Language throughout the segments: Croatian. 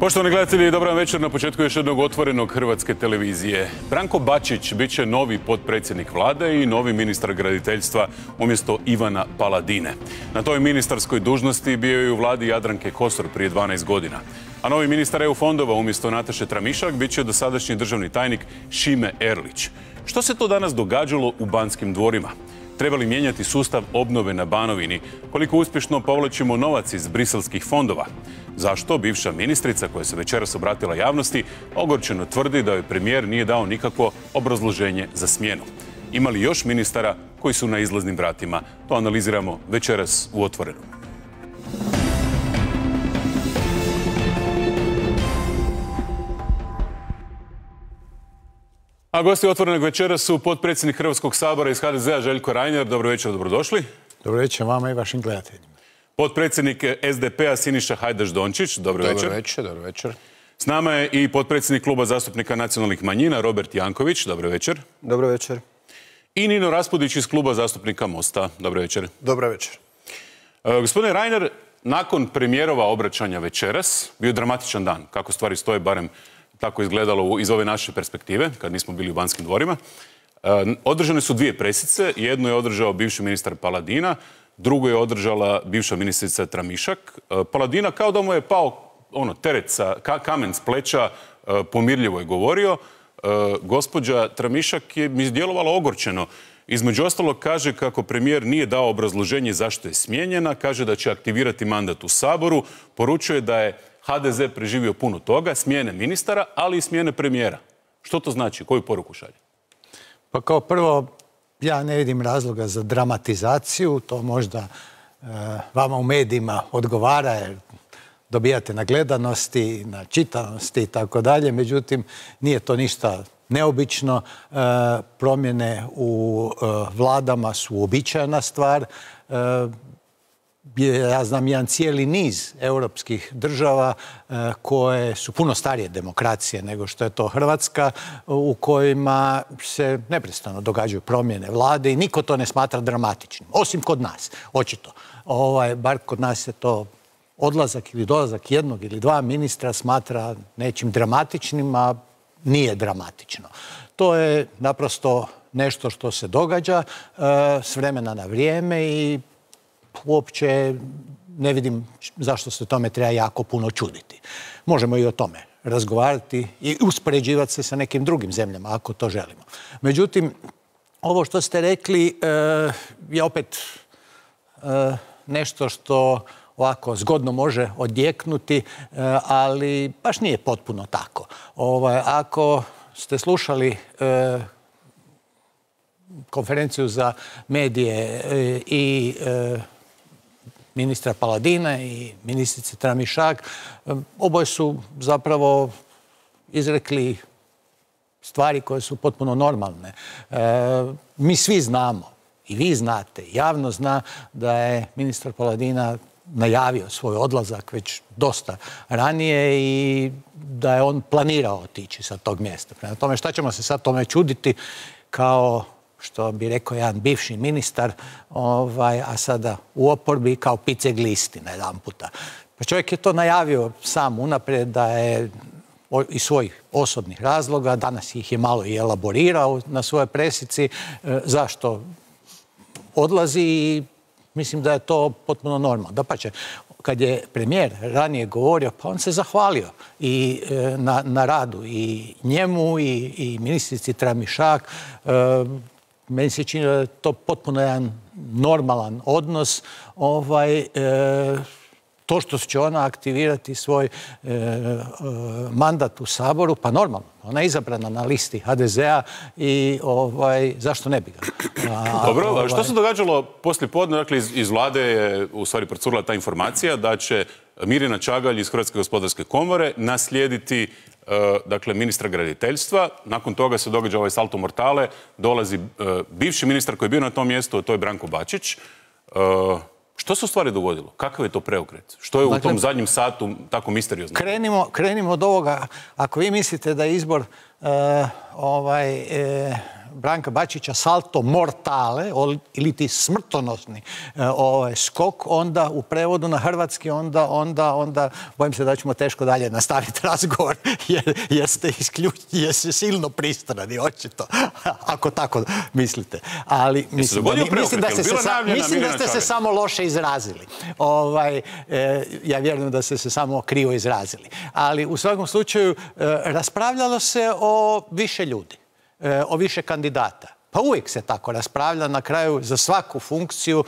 Poštovani gledatelji, dobar vam večer na početku još jednog otvorenog Hrvatske televizije. Branko Bačić bit će novi potpredsjednik vlade i novi ministar graditeljstva umjesto Ivana Paladine. Na toj ministarskoj dužnosti bio je u vladi Jadranke Kosor prije 12 godina. A novi ministar EU fondova umjesto Nataše Tramišak bit će dosadašnji državni tajnik Šime Erlić. Što se to danas događalo u Banskim dvorima? Treba li mijenjati sustav obnove na Banovini? Koliko uspješno povlačimo novac iz briselskih fondova? Zašto bivša ministrica, koja se večeras obratila javnosti, ogorčeno tvrdi da joj premijer nije dao nikakvo obrazloženje za smjenu? Ima li još ministara koji su na izlaznim vratima? To analiziramo večeras u Otvorenom. A gosti Otvorenog večera su potpredsjednik Hrvatskog sabora iz HDZ-a Željko Reiner. Dobro večer, dobrodošli. Dobro večer vama i vašim gledateljima. Potpredsjednik SDP-a Siniša Hajdaš Dončić. Dobro večer. Dobro večer, dobro večer. S nama je i potpredsjednik Kluba zastupnika nacionalnih manjina Robert Janković. Dobro večer. Dobro večer. I Nino Raspudić iz Kluba zastupnika Mosta. Dobro večer. Dobro večer. Gospodine Reiner, nakon premijerova obraćanja večeras bio dramatičan dan. Kako stvari stoje, barem tako izgledalo iz ove naše perspektive, kad nismo bili u Banskim dvorima. Održane su dvije presice. Jednu je održao bivši ministar Paladina, drugu je održala bivša ministrica Tramišak. Paladina kao da mu je pao teret, kamen s pleća, pomirljivo je govorio. Gospođa Tramišak je mi djelovala ogorčeno. Između ostalog kaže kako premijer nije dao obrazloženje zašto je smijenjena, kaže da će aktivirati mandat u Saboru, poručuje da je HDZ preživio puno toga, smjene ministara, ali i smjene premijera. Što to znači? Koju poruku šalje? Pa kao prvo, ja ne vidim razloga za dramatizaciju. To možda vama u medijima odgovara jer dobijate na gledanosti, na čitanosti i tako dalje. Međutim, nije to ništa neobično. Promjene u vladama su uobičajena stvar. Ja znam jedan cijeli niz europskih država koje su puno starije demokracije nego što je to Hrvatska, u kojima se neprestano događaju promjene vlade i niko to ne smatra dramatičnim. Osim kod nas, očito. Bar kod nas se to odlazak ili dolazak jednog ili dva ministra smatra nečim dramatičnim, a nije dramatično. To je naprosto nešto što se događa s vremena na vrijeme i uopće ne vidim zašto se tome treba jako puno čuditi. Možemo i o tome razgovarati i uspoređivati se sa nekim drugim zemljama, ako to želimo. Međutim, ovo što ste rekli je opet nešto što ovako zgodno može odjeknuti, ali baš nije potpuno tako. Ako ste slušali konferenciju za medije i ministra Paladina i ministrice Tramišak, oboje su zapravo izrekli stvari koje su potpuno normalne. Mi svi znamo, i vi znate, javno zna da je ministar Paladina najavio svoj odlazak već dosta ranije i da je on planirao otići sa tog mjesta. Prema tome, šta ćemo se sad tome čuditi kao što bi rekao jedan bivši ministar, a sada u oporbi kao piceglisti na jedan puta. Pa čovjek je to najavio sam unaprijed da je iz svojih osobnih razloga, danas ih je malo i elaborirao na svojoj presici, zašto odlazi i mislim da je to potpuno normalno. Dapače, kad je premijer ranije govorio, pa on se zahvalio i na radu i njemu i ministrici Tramišak. Meni se čini da je to potpuno jedan normalan odnos. To što će ona aktivirati svoj mandat u Saboru, pa normalno. Ona je izabrana na listi HDZ-a i zašto ne bi ga? Dobro, što se događalo poslije podne? Dakle, iz vlade je u stvari procurila ta informacija da će Mirjana Čagalj iz Hrvatske gospodarske komore naslijediti ministra graditeljstva. Nakon toga se događa ovaj salto mortale, dolazi bivši ministar koji je bio na tom mjestu, a to je Branko Bačić. Što se u stvari dogodilo? Kakav je to preokret? Što je u tom zadnjem satu tako misteriozno? Krenimo od ovoga. Ako vi mislite da je izbor Branka Bačića salto mortale ili ti smrtonosni skok, onda u prevodu na hrvatski onda bojim se da ćemo teško dalje nastaviti razgovor jer ste silno pristrani, očito, ako tako mislite. Ali mislim da ste se samo loše izrazili. Ja vjerujem da ste se samo krivo izrazili. Ali u svakom slučaju raspravljalo se o više ljudi, o više kandidata. Pa uvijek se tako raspravlja, na kraju za svaku funkciju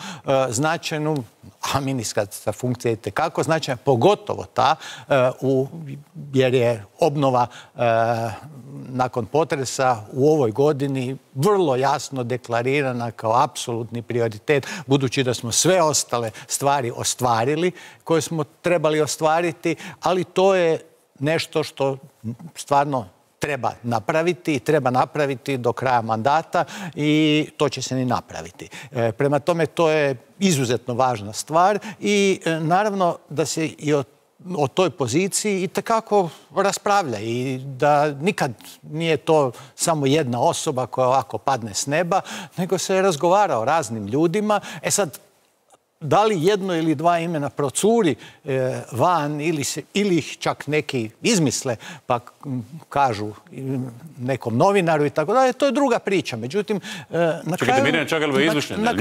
značajnu, a ministarska funkcija je itekako značajna, pogotovo ta, jer je obnova nakon potresa u ovoj godini vrlo jasno deklarirana kao apsolutni prioritet, budući da smo sve ostale stvari ostvarili koje smo trebali ostvariti, ali to je nešto što stvarno treba napraviti do kraja mandata i to će se ni napraviti. Prema tome, to je izuzetno važna stvar i naravno da se i o toj poziciji itekako raspravlja i da nikad nije to samo jedna osoba koja ovako padne s neba, nego se razgovara o raznim ljudima. Sad, da li jedno ili dva imena procuri van ili ih čak neki izmisle pa kažu nekom novinaru i tako dalje, to je druga priča. Međutim, na kraju... Čekajte, Mirjana Čagalova je izmišljena.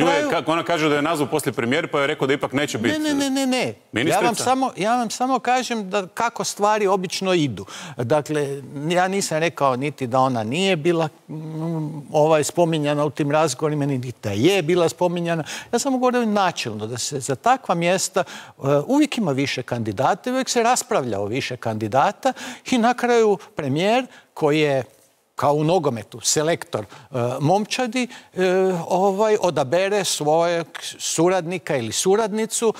Ona kaže da je nazvao poslije premijer pa je rekao da ipak neće biti ministrica. Ja vam samo kažem kako stvari obično idu. Dakle, ja nisam rekao niti da ona nije bila spominjana u tim razgovorima, niti da je bila spominjana. Ja samo govorim načelno da se za takva mjesta uvijek ima više kandidata, uvijek se raspravlja o više kandidata i na kraju premijer koji je kao u nogometu selektor momčadi odabere svojeg suradnika ili suradnicu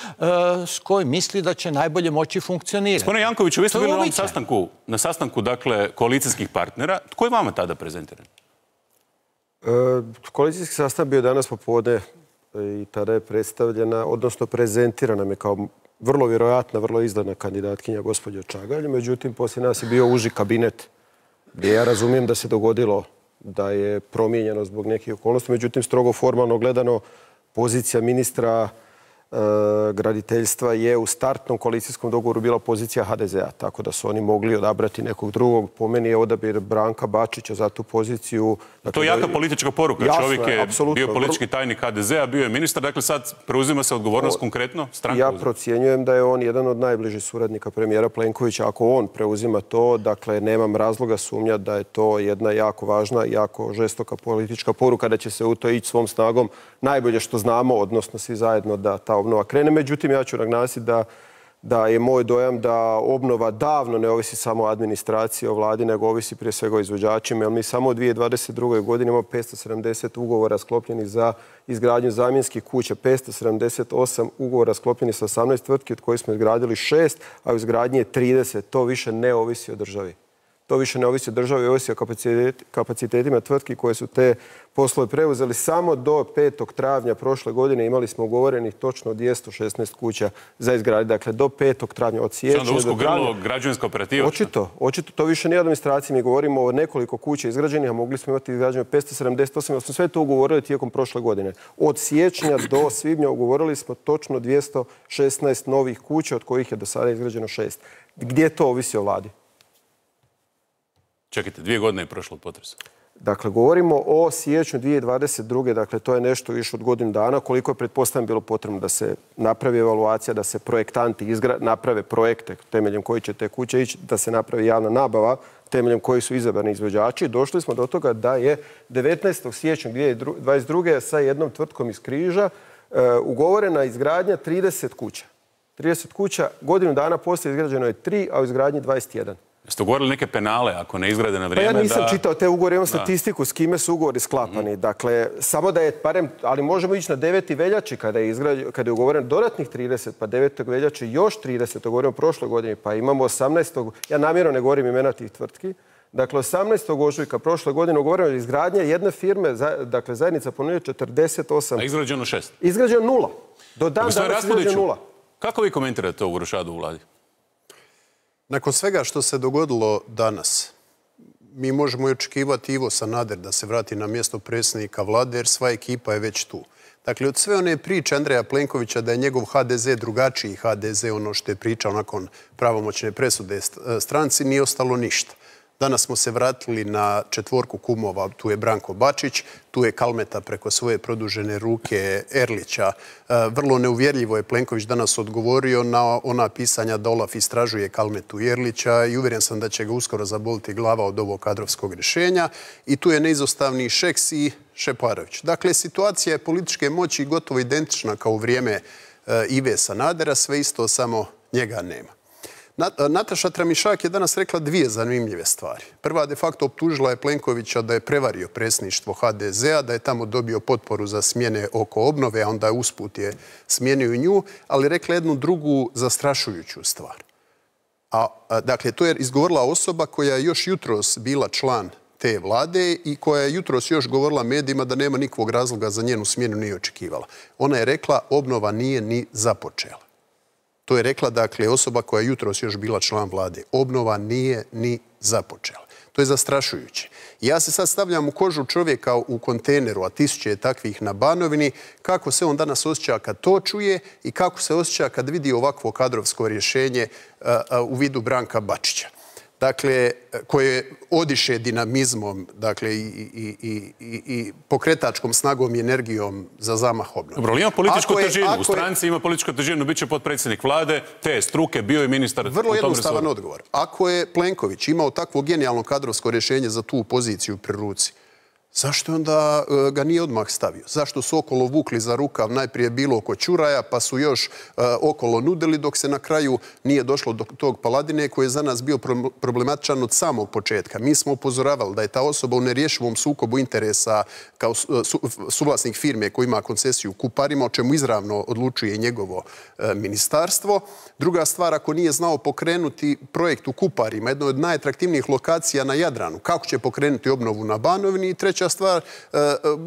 s kojim misli da će najbolje moći funkcionirati. Gospodine Jankoviću, vi ste bili na sastanku dakle koalicijskih partnera. Tko je vama tada prezentiran? Koalicijski sastanak bio danas popodne i tada je predstavljena, odnosno prezentirana mi kao vrlo vjerojatna, vrlo izdana kandidatkinja gospođa Čagalj. Međutim, poslije nas je bio uži kabinet gdje ja razumijem da se dogodilo da je promijenjeno zbog nekih okolnosti. Međutim, strogo formalno gledano, pozicija ministra graditeljstva je u startnom koalicijskom dogovoru bila pozicija HDZ-a, tako da su oni mogli odabrati nekog drugog. Po meni je odabir Branka Bačića za tu poziciju. To je jaka politička poruka. Čovjek je bio politički tajnik HDZ-a, bio je ministar, dakle sad preuzima se odgovornost konkretno? Ja procjenjujem da je on jedan od najbližih suradnika premijera Plenkovića. Ako on preuzima to, dakle nemam razloga sumnjati da je to jedna jako važna, jako žestoka politička poruka, da će se u to ići svom snagom najbolje što znamo, odnosno svi zajedno da ta obnova krene. Međutim, ja ću naglasiti da je moj dojam da obnova davno ne ovisi samo o administraciji, o vladi, nego ovisi prije svega o izvođačima. Jer mi samo u 2022. godini imamo 570 ugovora sklopljenih za izgradnju zamjenskih kuća, 578 ugovora sklopljenih sa 18 tvrtki, od kojih smo izgradili 6, a u izgradnji je 30. To više ne ovisi o državi. To više ne ovisi o državi, ovisi o kapacitetima tvrtki koje su te poslove preuzeli. Samo do 5. travnja prošle godine imali smo ugovorenih točno 216 kuća za izgradnju. Dakle, do 5. travnja od siječnja do usko grlo građevinska operativa. Očito. To više nije administracija. Mi govorimo o nekoliko kuća izgrađenih, a mogli smo imati izgrađeno 578. Ali smo sve to ugovorili tijekom prošle godine. Od siječnja do svibnja ugovorili smo točno 216 novih kuća, od kojih je do sada izgrađeno 6. Gdje to ovisi o vladi? Čekajte, 2 godine je prošlo od potresa. Dakle, govorimo o siječnju 2022. Dakle, to je nešto više od godinu dana. Koliko je pretpostavljeno bilo potrebno da se napravi evaluacija, da se projektanti naprave projekte temeljem koji će te kuće ići, da se napravi javna nabava temeljem koji su izabrani izvođači. Došli smo do toga da je 19. siječnja 2022. sa jednom tvrtkom iz Križa ugovorena izgradnja 30 kuća. 30 kuća, godinu dana poslije izgrađeno je 3, a u izgradnji 21. Jeste ugovorili neke penale ako ne izgrade na vrijeme? Pa ja nisam čitao te ugovore, imam statistiku s kime su ugovori sklapani. Dakle, samo da je barem, ali možemo ići na 9. veljači kada je ugovoren dodatnih 30, pa 9. veljači još 30, to govorimo o prošloj godini, pa imamo 18. Ja namjerno ne govorim imena tih tvrtki. Dakle, 18. ožujka prošle godine ugovorena je izgradnja jedne firme, dakle zajednica ponudila 48. A izgrađeno 6? Izgrađeno 0. Do dan danas izgrađeno 0. Kako vi komentirate ovu rošadu u vladi? Nakon svega što se dogodilo danas, mi možemo i očekivati Ivo Sanader da se vrati na mjesto predsjednika vlade, jer sva ekipa je već tu. Dakle, od sve one priče Andreja Plenkovića da je njegov HDZ drugačiji HDZ, ono što je pričao nakon pravomoćne presude stranci, nije ostalo ništa. Danas smo se vratili na četvorku kumova, tu je Branko Bačić, tu je Kalmeta preko svoje produžene ruke Erlića. Vrlo neuvjerljivo je Plenković danas odgovorio na ona pisanja da Olaf istražuje Kalmetu i Erlića i uvjeren sam da će ga uskoro zaboliti glava od ovog kadrovskog rješenja. I tu je neizostavni Šeks i Šeparović. Dakle, situacija je političke moći gotovo identična kao u vrijeme Ive Sanadera, sve isto, samo njega nema. Nataša Tramišak je danas rekla dvije zanimljive stvari. Prva, de facto optužila je Plenkovića da je prevario predsjedništvo HDZ-a, da je tamo dobio potporu za smjene oko obnove, a onda usput je smijenio i nju, ali rekla jednu drugu zastrašujuću stvar. Dakle, to je izgovorila osoba koja je još jutros bila član te vlade i koja je jutros još govorila medijima da nema nikakvog razloga za njenu smjenu, nije očekivala. Ona je rekla obnova nije ni započela. To je rekla, dakle, osoba koja je jutros još bila član vlade. Obnova nije ni započela. To je zastrašujuće. Ja se sad stavljam u kožu čovjeka u kontejneru, a tisuće je takvih na Banovini, kako se on danas osjeća kad to čuje i kako se osjeća kad vidi ovakvo kadrovsko rješenje u vidu Branka Bačića. Dakle, koje odiše dinamizmom, dakle, i pokretačkom snagom i energijom za zamah obnove. Dobro, ali ima političku težinu. U stranci ima političku težinu. Biće potpredsjednik vlade, te struke, bio je ministar. Vrlo jednostavan odgovor. Ako je Plenković imao takvo genijalno kadrovsko rješenje za tu poziciju pri ruci, zašto onda ga nije odmah stavio? Zašto su okolo vukli za rukav najprije bilo oko Ćuraja, pa su još okolo nudili dok se na kraju nije došlo do tog Paladine koji je za nas bio problematičan od samog početka. Mi smo upozoravali da je ta osoba u nerješivom sukobu interesa kao suvlasnik firme koji ima koncesiju u Kuparima, o čemu izravno odlučuje njegovo ministarstvo. Druga stvar, ako nije znao pokrenuti projekt u Kuparima, jedno od najatraktivnijih lokacija na Jadranu, kako će pokrenuti obnovu na Banovini? I treća stvar,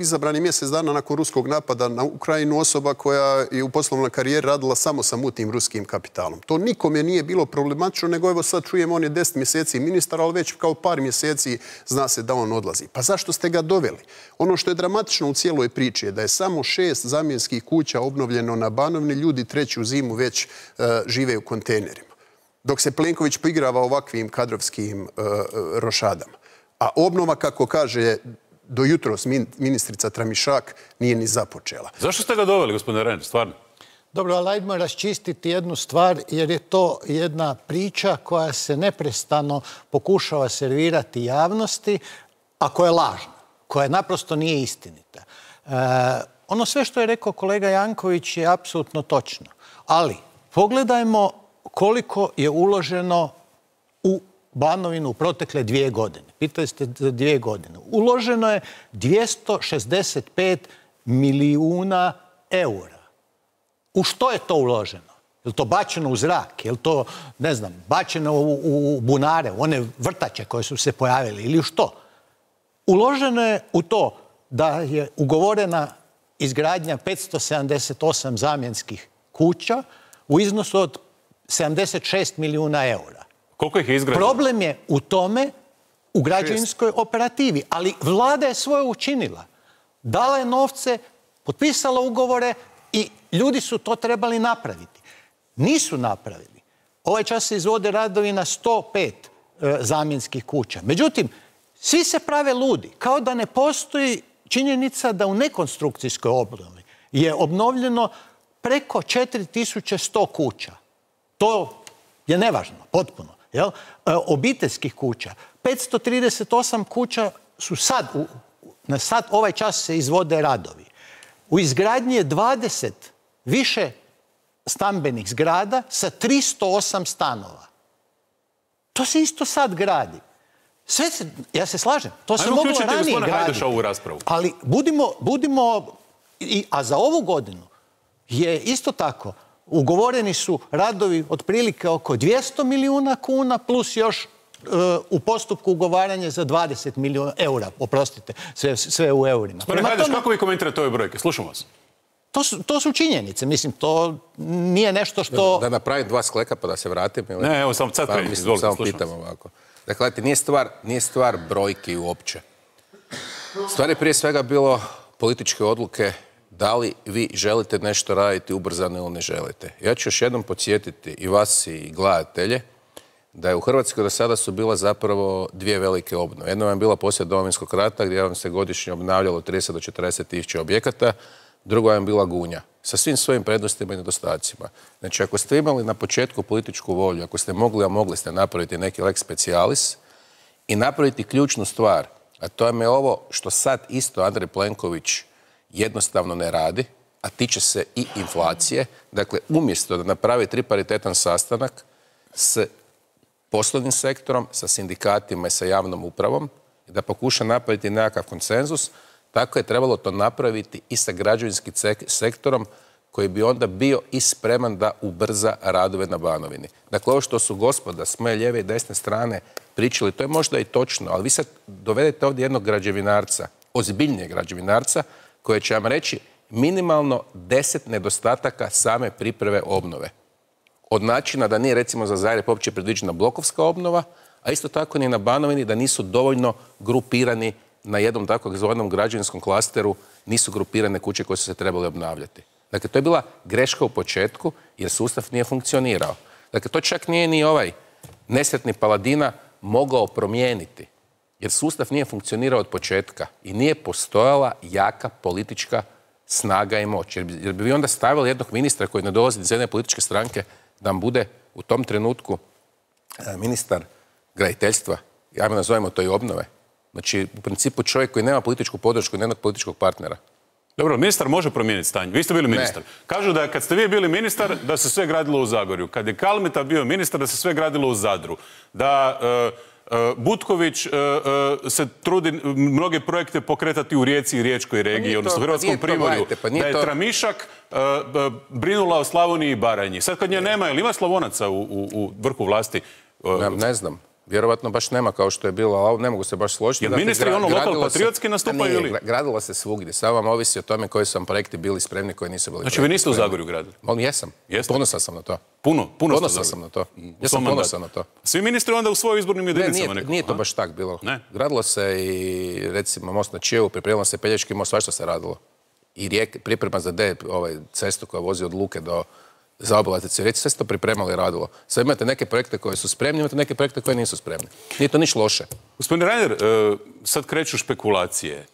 izabran je mjesec dana nakon ruskog napada na Ukrajinu osoba koja je u poslovnoj karijeri radila samo sa mutnim ruskim kapitalom. To nikome nije bilo problematično, nego evo sad čujemo on je 10 mjeseci ministar, ali već kao par mjeseci zna se da on odlazi. Pa zašto ste ga doveli? Ono što je dramatično u cijeloj priči je da je samo 6 zamjenskih kuća obnovljeno na Banovini, ljudi treću zimu već žive u kontejnerima. Dok se Plenković poigrava ovakvim kadrovskim rošadama. A obnova, kako kaže do jutros ministrica Tramišak, nije ni započela. Zašto ste ga doveli, gospodine Reiner, stvarno? Dobro, ali ajdemo raščistiti jednu stvar, jer je to jedna priča koja se neprestano pokušava servirati javnosti, a koja je lažna, koja naprosto nije istinita. Ono sve što je rekao kolega Janković je apsolutno točno. Ali pogledajmo koliko je uloženo u Banovinu u protekle 2 godine. Pitali ste za 2 godine. Uloženo je 265 milijuna eura. U što je to uloženo? Je li to bačeno u zrak? Je li to, ne znam, bačeno u bunare, u one vrtače koje su se pojavili ili u što? Uloženo je u to da je ugovorena izgradnja 578 zamjenskih kuća u iznosu od 76 milijuna eura. Koliko ih je izgrađeno? Problem je u tome, u građevinskoj operativi, ali vlada je svoje učinila. Dala je novce, potpisala ugovore i ljudi su to trebali napraviti. Nisu napravili. Ovaj čas se izvode radovi na 105 zamjenskih kuća. Međutim, svi se prave ludi, kao da ne postoji činjenica da u nekonstrukcijskoj obnovi je obnovljeno preko 4100 kuća. To je nevažno, potpuno. Obiteljskih kuća. 538 kuća su sad, ovaj čas se izvode radovi. U izgradnji je 20 više stambenih zgrada sa 308 stanova. To se isto sad gradi. Ja se slažem, to se moglo ranije graditi. Ali budimo, a za ovu godinu je isto tako, ugovoreni su radovi otprilike oko 200 milijuna kuna plus još u postupku ugovaranje za 20 milijuna eura. Oprostite, sve u eurima. Gospodine Hajdeš, kako vi komentirate ove brojke? Slušam vas. To su činjenice. Mislim, to nije nešto što... Da napravim 2 skleka pa da se vratim. Ne, evo, sad krenite. Samo pitam ovako. Dakle, nije stvar brojki uopće. Stvar je prije svega bilo političke odluke da li vi želite nešto raditi ubrzano ili ne želite. Ja ću još jednom podsjetiti i vas i gledatelje da je u Hrvatskoj do sada su bila zapravo dvije velike obnove. Jedna vam je bila poslije Domovinskog rata gdje vam se godišnje obnavljalo 30 do 40 tisuća objekata, druga vam je bila Gunja sa svim svojim prednostima i nedostacima. Znači, ako ste imali na početku političku volju, ako ste mogli, a mogli ste napraviti neki lex specialis i napraviti ključnu stvar, a to je ovo što sad isto Andrej Plenković jednostavno ne radi, a tiče se i inflacije. Dakle, umjesto da napravi triparitetan sastanak s poslovnim sektorom, sa sindikatima i sa javnom upravom, da pokuša napraviti nekakav konsenzus, tako je trebalo to napraviti i sa građevinskim sektorom koji bi onda bio i spreman da ubrza radove na Banovini. Dakle, ovo što su gospoda s moje lijeve i desne strane pričali, to je možda i točno, ali vi sad dovedete ovdje jednog građevinarca, ozbiljnijeg građevinarca, koji će vam reći minimalno 10 nedostataka same pripreme obnove. Od načina da nije recimo za Zagreb uopće predviđena blokovska obnova, a isto tako ni na Banovini da nisu dovoljno grupirani na jednom takvog zvanom građevinskom klasteru, nisu grupirane kuće koje su se trebale obnavljati. Dakle, to je bila greška u početku jer sustav nije funkcionirao. Dakle, to čak nije ni ovaj nesretni Paladina mogao promijeniti. Jer sustav nije funkcionirao od početka i nije postojala jaka politička snaga i moć. Jer bi vi onda stavili jednog ministra koji ne dolazi iz jedne političke stranke da vam bude u tom trenutku ministar graditeljstva, ja me nazovemo to i obnove. Znači, u principu čovjek koji nema političku podršku i nema političkog partnera. Dobro, ministar može promijeniti stanje. Vi ste bili ministar. Kažu da kad ste vi bili ministar, da se sve gradilo u Zagorju. Kad je Kalmeta bio ministar, da se sve gradilo u Zadru. Da Butković se trudi mnoge projekte pokretati u Rijeci i Riječkoj regiji, odnosno Hrvatskom primorju. Da je Tramišak brinula o Slavoniji i Baranji. Sad kad nje nema, ili ima Slavonaca u vrhu vlasti? Ne znam. Vjerovatno baš nema kao što je bilo, ali ne mogu se baš složiti. Jer ministri ono lokal-patriotski nastupaju ili? Gradilo se svugdje. Samo vam ovisi o tome koji su vam projekti bili spremni, koji nisu bili. Znači vi niste u Zagorju gradili? Jesam. Ponosan sam na to. Ponosan sam na to. Ja sam ponosan na to. Svi ministri onda u svojim izbornim jedinicama nekako? Nije to baš tak bilo. Gradilo se i recimo most na Čijevu, pripremilo se Pelješki most, svašta se radilo. I priprema za cestu koja vozi od Luke do zaobilaznice Rijeci, sve se to pripremalo i radilo. Sad imate neke projekte koje su spremni, imate neke projekte koje nisu spremni. Nije to niš loše. Gospodin Reiner, sad kreću špekulacije.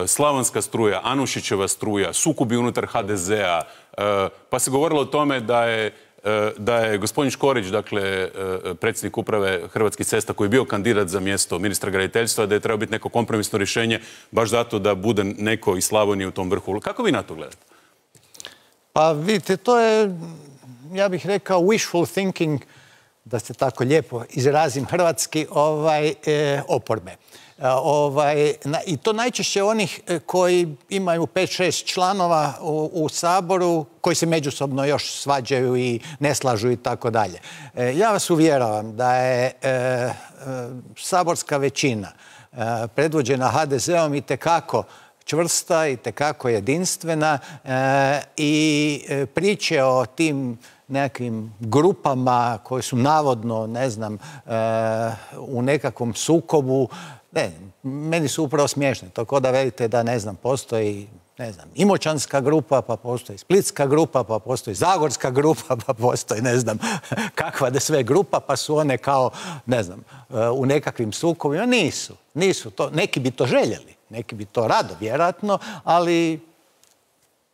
Slavonska struja, Anušićeva struja, sukobi unutar HDZ-a, pa se govorilo o tome da je gospodin Škorić, dakle, predsjednik uprave Hrvatskih cesta, koji je bio kandidat za mjesto ministra graditeljstva, da je trebao biti neko kompromisno rješenje, baš zato da bude neko iz Slavonije u tom vrhu. Kako vi na to gledate? Pa vidite, to je, ja bih rekao, wishful thinking, da se tako lijepo izrazim hrvatski, oporbe. I to najčešće onih koji imaju 5-6 članova u Saboru, koji se međusobno još svađaju i ne slažu i tako dalje. Ja vas uvjeravam da je saborska većina predvođena HDZ-om itekako čvrsta, itekako jedinstvena i priče o tim nekakvim grupama koje su navodno, ne znam, u nekakvom sukobu, meni su upravo smiješne. To kao da velite da, ne znam, postoji, ne znam, Imoćanska grupa, pa postoji Splitska grupa, pa postoji Zagorska grupa, pa postoji, ne znam, kakva da sve grupa, pa su one kao, ne znam, u nekakvim sukobima. Nisu to. Neki bi to željeli, neki bi to rado, vjerojatno, ali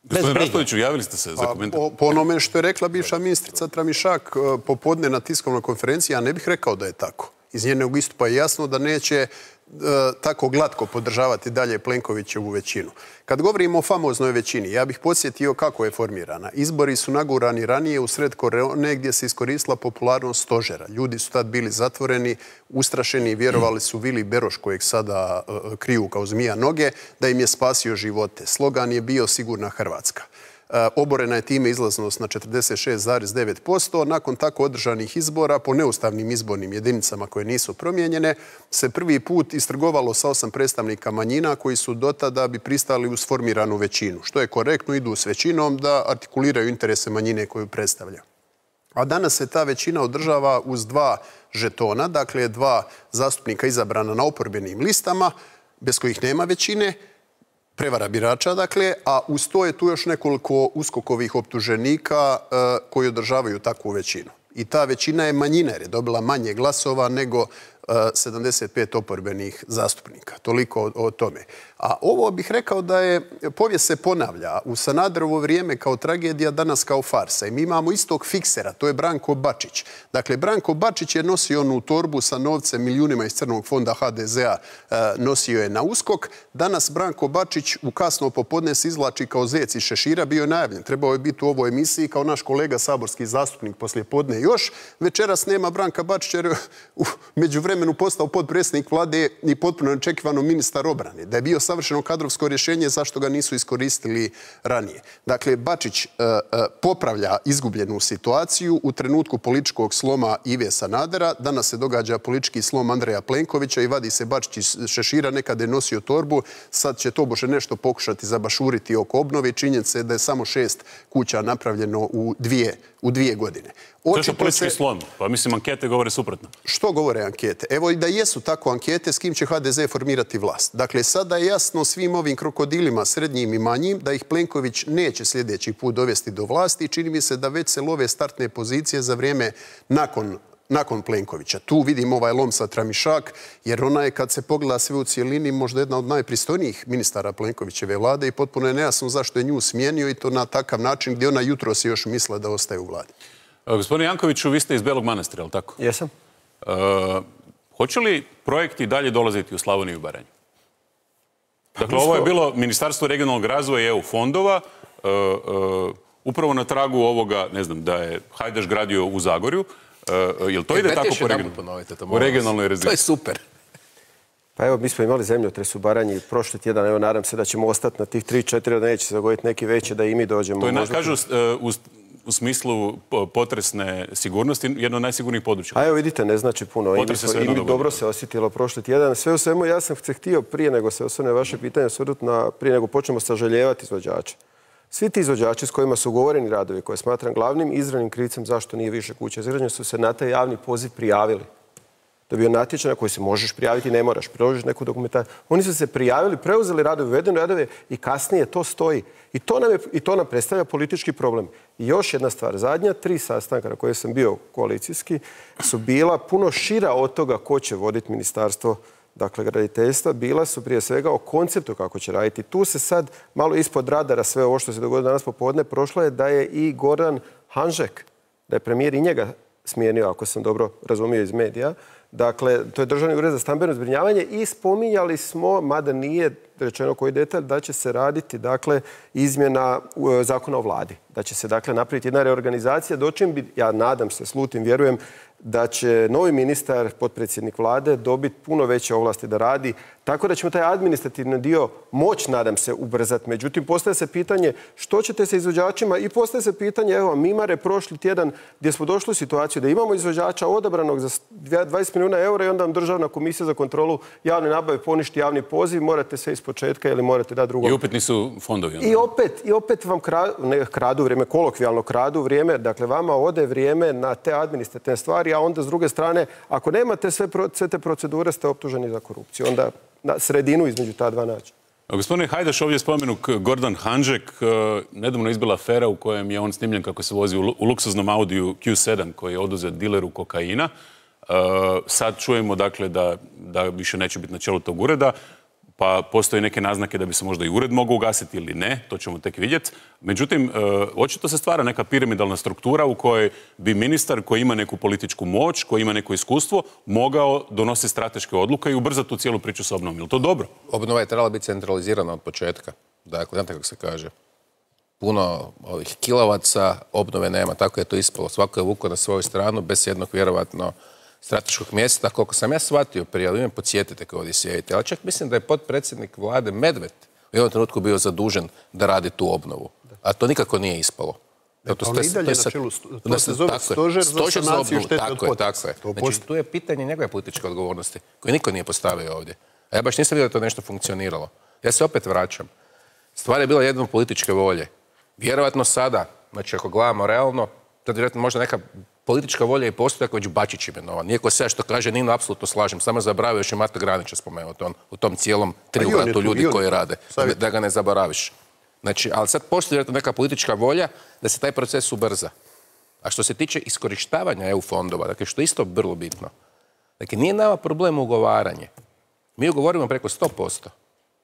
Gospodin Raspudiću, javili ste se za komentar. Po onome što je rekla bivša ministrica Tramišak popodne na tiskovnoj konferenciji, ja ne bih rekao da je tako. Iz njenog istupa je jasno da neće tako glatko podržavati dalje Plenkovićevu većinu. Kad govorimo o famoznoj većini, ja bih podsjetio kako je formirana. Izbori su nagurani ranije u sred korone gdje se iskoristila popularnost stožera. Ljudi su tad bili zatvoreni, ustrašeni i vjerovali su Vili Beroš, kojeg sada kriju kao zmija noge, da im je spasio živote. Slogan je bio Sigurna Hrvatska. Oborena je time izlaznost na 46,9%. Nakon tako održanih izbora, po neustavnim izbornim jedinicama koje nisu promijenjene, se prvi put istrgovalo sa 8 predstavnika manjina koji su do tada bi pristali uz formiranu većinu. Što je korektno, idu s većinom da artikuliraju interese manjine koju predstavlja. A danas se ta većina održava uz 2 žetona, dakle 2 zastupnika izabrana na oporbenim listama, bez kojih nema većine, prevara birača, dakle, a uz to je tu još nekoliko uskokovih optuženika koji održavaju takvu većinu. I ta većina je manjina jer je dobila manje glasova nego 75 oporbenih zastupnika. Toliko o tome. A ovo bih rekao da je, povijest se ponavlja. U Sanaderovo vrijeme kao tragedija, danas kao farsa. I mi imamo istog fiksera, to je Branko Bačić. Dakle, Branko Bačić je nosio onu torbu sa novcem, milijunima iz crnog fonda HDZ-a, nosio je na USKOK. Danas Branko Bačić u kasno popodne se izvlači kao zec iz šešira, bio je najavljen. Trebao je biti u ovoj emisiji kao naš kolega saborski zastupnik poslije podne još. Večeras nema Branka Bačića jer je međuvremenu postao potpredsjednik vlade i potpuno neočekivano ministar obrane. Da je bio savršeno kadrovsko rješenje, zašto ga nisu iskoristili ranije. Dakle, Bačić popravlja izgubljenu situaciju u trenutku političkog sloma Ive Sanadera. Danas se događa politički slom Andreja Plenkovića i vadi se Bačić iz šešira, nekada je nosio torbu, sad će tobože nešto pokušati zabašuriti oko obnove. Činjenica je da je samo 6 kuća napravljeno u 2 godine. To je politički slom, pa mislim ankete govore suprotno. Što govore ankete? Evo i da jesu tako ankete, s kim će HDZ formirati vlast. Dakle, sada je jasno svim ovim krokodilima, srednjim i manjim, da ih Plenković neće sljedeći put dovesti do vlasti i čini mi se da već se love startne pozicije za vrijeme nakon Plenkovića. Tu vidimo ovaj lom sa Tramišak, jer ona je, kad se pogleda sve u cijelini, možda jedna od najpristojnijih ministara Plenkovićeve vlade i potpuno je nejasno zašto je nju smijenio i to na takav način gdje ona jutro se još misle da ostaje u vladi. Gospodine Jankoviću, vi ste iz Belog Manastira, ali tako? Jesam. Hoće li projekti dalje dolaziti u Slavoniju i Baranju? Dakle, ovo je bilo Ministarstvo regionalnog razvoja i EU fondova, upravo na tragu ovoga, ne znam, da je Hajdaš gradio u Zagorju. Jel to ide tako po regionalnoj razini? To je super. Pa evo, mi smo imali zemljotres u Baranji prošli tjedan, evo nadam se da ćemo ostati na tih 3-4, da neće se dogoditi neki veći, da i mi dođemo. To je, kažu, u smislu potresne sigurnosti, jedno od najsigurnijih područja. A evo vidite, ne znači puno. I mi dobro se osjetilo prošli tjedan. Sve u svemu, ja sam se htio prije nego se osvrne vaše pitanje osvrnuti prije nego počnemo sažaljevati izvođače. Svi ti izvođači s kojima su ugovoreni radovi, koje smatram glavnim izravnim krivcem zašto nije više kuća izgrađeno, su se na taj javni poziv prijavili. To je bio natječaj na koji se možeš prijaviti, ne moraš, priložiš neku dokumentaciju. Oni su se prijavili, preuzeli radove, uvedeni radove i kasnije to stoji. I to nam predstavlja politički problem. I još jedna stvar, zadnja 3 sastanka na koje sam bio koalicijski su bila puno šira od toga ko će voditi ministarstvo, dakle, graditeljstva, bila su prije svega o konceptu kako će raditi. Tu se sad malo ispod radara sve ovo što se dogodilo danas popodne prošlo je da je i Goran Hanžek, da je premijer i njega smijenio, ako sam dobro razumio iz medija. Dakle, to je Državni ured za stambeno zbrinjavanje i spominjali smo, mada nije rečeno koji detalj, da će se raditi, dakle, izmjena zakona o vladi. Da će se, dakle, napraviti jedna reorganizacija, dočim bi, ja nadam se, slutim, vjerujem, da će novi ministar, potpredsjednik vlade, dobiti puno veće ovlasti da radi, tako da ćemo taj administrativni dio moći, nadam se, ubrzati. Međutim, postaje se pitanje što ćete sa izvođačima i postaje se pitanje, evo, Mimare prošli tjedan gdje smo došli u situaciju da imamo izvođača odabranog za 20 milijuna eura i onda vam Državna komisija za kontrolu javne nabave poništi javni poziv, morate sve iz početka ili morate dati drugo. I opet nisu fondovi. I opet vam kradu vrijeme, kolokvijalno kradu vrijeme, dakle vama ode vrijeme na te administrativne stvari, a onda s druge strane, ako nemate sve te procedure, ste optuženi za korupciju. Onda na sredinu između ta dva naći. Gospodine Hajdaš, ovdje spomenuk Gordan Hanžek, nedavno izbila afera u kojem je on snimljen kako se vozi u luksuznom Audiju Q7 koji je oduzet dileru kokaina. Sad čujemo, dakle, da više neće biti na čelu tog ureda, pa postoje neke naznake da bi se možda i ured mogao ugasiti ili ne, to ćemo tek vidjeti. Međutim, očito se stvara neka piramidalna struktura u kojoj bi ministar koji ima neku političku moć, koji ima neko iskustvo, mogao donositi strateške odluke i ubrzati tu cijelu priču s obnovom. Je li to dobro? Obnova je trebala biti centralizirana od početka. Dakle, znate kako se kaže, puno ovih kilovaca obnove nema, tako je to ispalo. Svako je vukao na svoju stranu bez jednog vjerovatno strateškog mjesta, koliko sam ja shvatio prije, ali me podsjetite kao ovdje sjedite, ali čak mislim da je potpredsjednik vlade Medved u jednom trenutku bio zadužen da radi tu obnovu. A to nikako nije ispalo. On i dalje na čelu, to se zove stožer za sanaciju štete od potresa. Znači, tu je pitanje njegove političke odgovornosti, koje niko nije postavio ovdje. A ja baš nisam vidio da to nešto funkcioniralo. Ja se opet vraćam. Stvar je bila jednom političke volje. Vjerovatno sada, znači ako gledamo realno, to je vjerojatno možda neka politička volja i postoji ako već Bačić imenovan. Iako se što kaže Nino, apsolutno slažem. Samo zaboravio još je Mato Granića spomenuti u tom cijelom triumviratu ljudi koji rade. Da ga ne zaboraviš. Znači, ali sad postoji vjerojatno neka politička volja da se taj proces ubrza. A što se tiče iskorištavanja EU fondova, dakle, što je isto vrlo bitno. Dakle, nije nama problem ugovaranje. Mi ugovorimo preko 100%.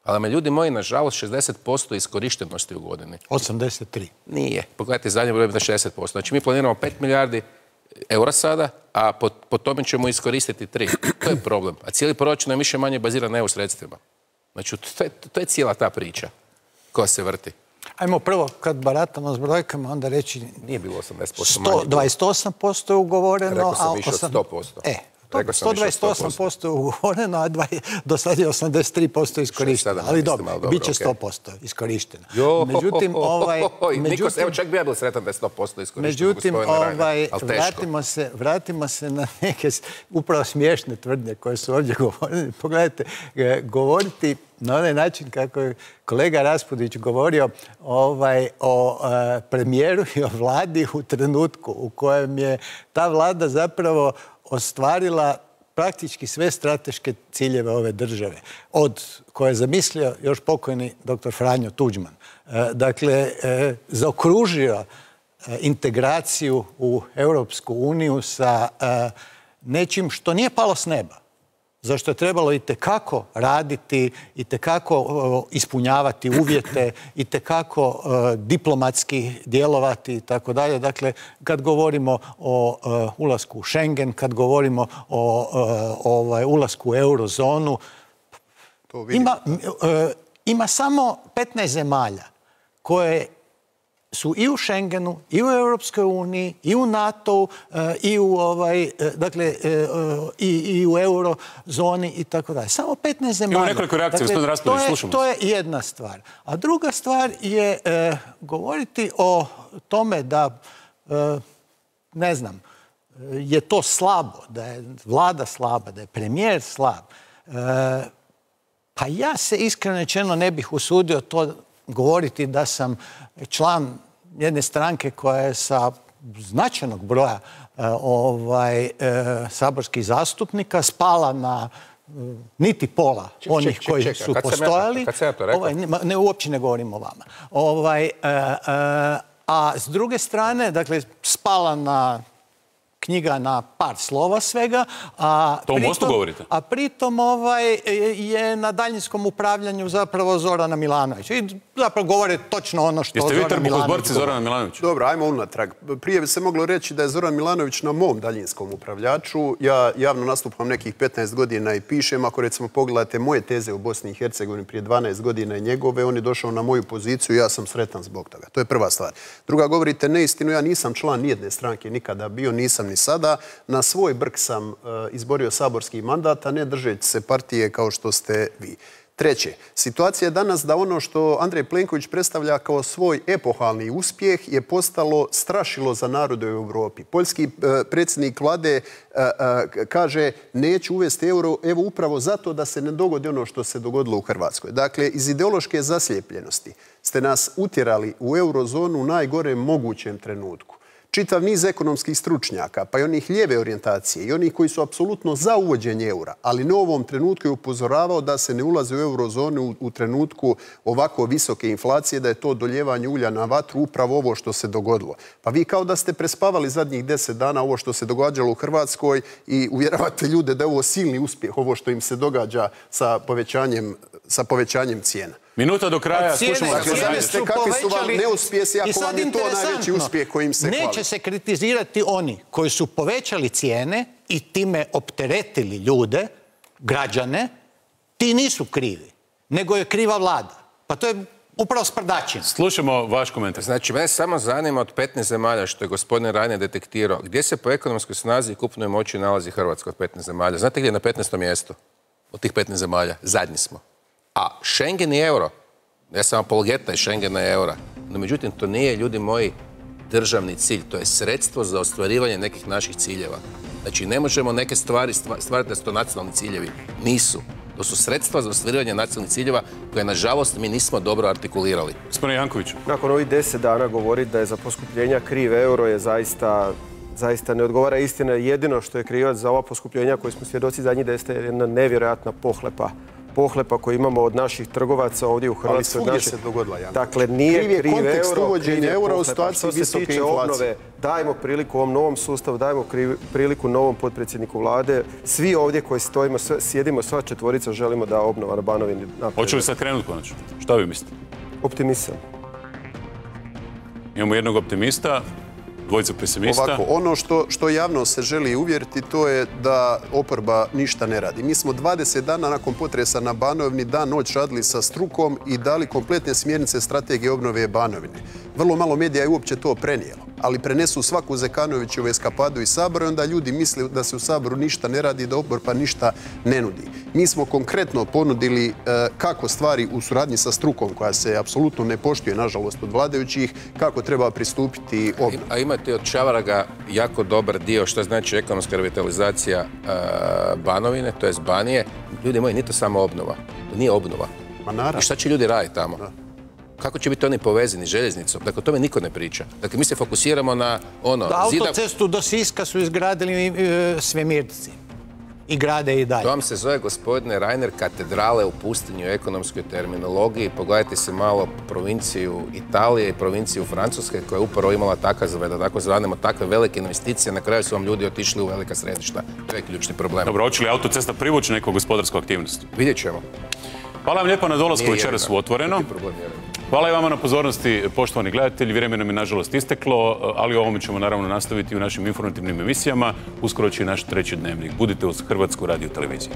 Ali me ljudi moji, nažalost, 60% iskorištenosti u godini. 83. Nije. Pogledajte, zadnje broj na 60%. Znači, mi planiramo 5 milijardi eura sada, a po tome ćemo iskoristiti 3. To je problem. A cijeli proračun je više manje baziran na EU sredstvima. Znači, to je cijela ta priča koja se vrti. Ajmo prvo, kad baratamo s brojkama, onda reći... Nije bilo 80% manje. 28% je ugovoreno, rekao sam više od 100%. 128% je ugovoreno, a do sada je 83% iskorišteno. Ali dobro, bit će 100% iskorišteno. Međutim, evo čak bi ja bio sretan da je 100% iskorišteno. Međutim, vratimo se na neke upravo smiješne tvrdnje koje su ovdje govorili. Pogledajte, govoriti na onaj način kako je kolega Raspudić govorio o premijeru i o vladi u trenutku u kojem je ta vlada zapravo ostvarila praktički sve strateške ciljeve ove države, od koje je zamislio još pokojni dr. Franjo Tuđman. Dakle, zaokružio integraciju u Europsku uniju sa nečim što nije palo s neba, za što je trebalo itekako raditi, itekako ispunjavati uvjete, itekako diplomatski djelovati i tako dalje. Dakle, kad govorimo o ulasku u Schengen, kad govorimo o ulasku u eurozonu, ima samo 15 zemalja koje su i u Schengenu, i u Europskoj uniji, i u NATO-u, i u eurozoni i tako dalje. Samo 15 zemalja. Imamo nekoliko reakcija, gospodin Raspudić, slušamo. To je jedna stvar. A druga stvar je govoriti o tome da, ne znam, je to slabo, da je vlada slaba, da je premijer slab. Pa ja se iskreno rečeno ne bih usudio to govoriti da sam član jedne stranke koja je sa značajnog broja saborskih zastupnika spala na niti pola onih koji su postojali. Kad sam ja to rekao? Ne, uopće ne govorim o vama. A s druge strane, dakle, spala na knjiga na par slova svega. To u Mostu govorite? A pritom je na daljinskom upravljanju zapravo Zorana Milanovića. I zapravo govore točno ono što Zoran Milanović govori. Jeste vi trbuhozborci Zorana Milanovića? Dobro, ajmo unatrag. Prije bi se moglo reći da je Zoran Milanović na mom daljinskom upravljaču. Ja javno nastupam nekih 15 godina i pišem. Ako recimo pogledate moje teze u Bosni i Hercegovini prije 12 godina i njegove, on je došao na moju poziciju i ja sam sretan zbog toga. To je prva stvar. Druga, govorite neistinu, ja nisam član nijedne stranke nikada bio, nisam ni sada. Na svoj brk sam izborio saborski mandat, a ne držeći se partije kao što ste vi. Treće, situacija je danas da ono što Andrej Plenković predstavlja kao svoj epohalni uspjeh je postalo strašilo za narode u Europi. Poljski predsjednik vlade kaže neću uvesti euro, evo upravo zato da se ne dogodi ono što se dogodilo u Hrvatskoj. Dakle, iz ideološke zaslijepljenosti ste nas utjerali u eurozonu u najgorem mogućem trenutku. Čitav niz ekonomskih stručnjaka, pa i onih lijeve orijentacije i onih koji su apsolutno za uvođenje eura, ali ne u ovom trenutku je upozoravao da se ne ulazi u eurozonu u trenutku ovako visoke inflacije, da je to doljevanje ulja na vatru, upravo ovo što se dogodilo. Pa vi kao da ste prespavali zadnjih 10 dana ovo što se događalo u Hrvatskoj i uvjeravate ljude da je ovo silni uspjeh, ovo što im se događa sa povećanjem cijena. Minuta do kraja, slušamo kakvi su vam neuspjesi ako vam je to najveći uspjeh kojim se hvali. Neće se kritizirati oni koji su povećali cijene i time opteretili ljude, građane, ti nisu krivi, nego je kriva vlada. Pa to je upravo sprdačina. Slušamo vaš komentar. Znači, mene samo zanima od 15 zemalja što je gospodin Reiner detektirao, gdje se po ekonomskoj snazi i kupnoj moći nalazi Hrvatska od 15 zemalja? Znate gdje je na 15. mjestu od tih 15 zemalja? Zadnji smo. A Schengen i euro, ja sam apologeta i Schengena i eura, no međutim to nije, ljudi moji, državni cilj, to je sredstvo za ostvarivanje nekih naših ciljeva. Znači ne možemo neke stvari stvarati da su to nacionalni ciljevi. Nisu. To su sredstva za ostvarivanje nacionalnih ciljeva koje, nažalost, mi nismo dobro artikulirali. Gospodine Jankoviću. Nakon ovih 10 dana govoriti da je za poskupljenja kriv euro je zaista zaista ne odgovara istina. Jedino što je krivac za ova poskupljenja koje smo svjedoci zadnjih 10 je jedna nevjerojatna pohlepa koju imamo od naših trgovaca ovdje u Hrvatskoj. Ali svugdje se dogodila, Janko. Dakle, nije kriv kontekst euro, uvođenja eura u situaciji što se visoke tiče inflacije. obnove, dajmo priliku ovom novom sustavu, dajmo priliku novom potpredsjedniku vlade. Svi ovdje koji stojimo, sjedimo, sva četvorica želimo da obnova na Banovini napreduje. Hoće li sad krenuti konačno? Šta vi mislite? Optimisam. Imamo jednog optimista, dvojica pesimista. Ovako, ono što javno se želi uvjeriti to je da oporba ništa ne radi. Mi smo 20 dana nakon potresa na Banovini dan noć radili sa strukom i dali kompletne smjernice strategije obnove Banovine. Vrlo malo medija je uopće to prenijelo, ali prenesu svaku Zekanovićevu eskapadu iz Sabora i onda ljudi misle da se u Saboru ništa ne radi, da oporba ništa ne nudi. Mi smo konkretno ponudili kako stvari u suradnji sa strukom, koja se apsolutno ne poštuje, nažalost, od vladajućih, kako treba pristupiti obnovi. A imate od Čavaraga jako dobar dio što znači ekonomska revitalizacija Banovine, to jest Banije. Ljudi moji, nije to samo obnova. To nije obnova. Ma naravno. I šta će ljudi raditi tamo? Kako će biti oni povezani željeznicom? Dakle, o tome niko ne priča. Dakle, mi se fokusiramo na ono... Autocestu do Siska su izgradili svemirci. I grade i dalje. To vam se zove, gospodine Reiner, katedrale u pustinju u ekonomskoj terminologiji. Pogledajte se malo provinciju Italije i provinciju Francuske koja je upravo imala tako zvanemo takve velike investicije. Na kraju su vam ljudi otišli u velika središta. To je ključni problem. Dobro, hoće li autocesta privući neku gospodarsku aktivnost? Vidjet ćemo. Hvala vam lijepo na dolasku večeras u Otvoreno. Hvala i vama na pozornosti, poštovani gledatelji. Vrijeme nam je nažalost isteklo, ali o ovome ćemo naravno nastaviti u našim informativnim emisijama. Uskoro će i naš treći dnevnik. Budite uz Hrvatsku radioteleviziju.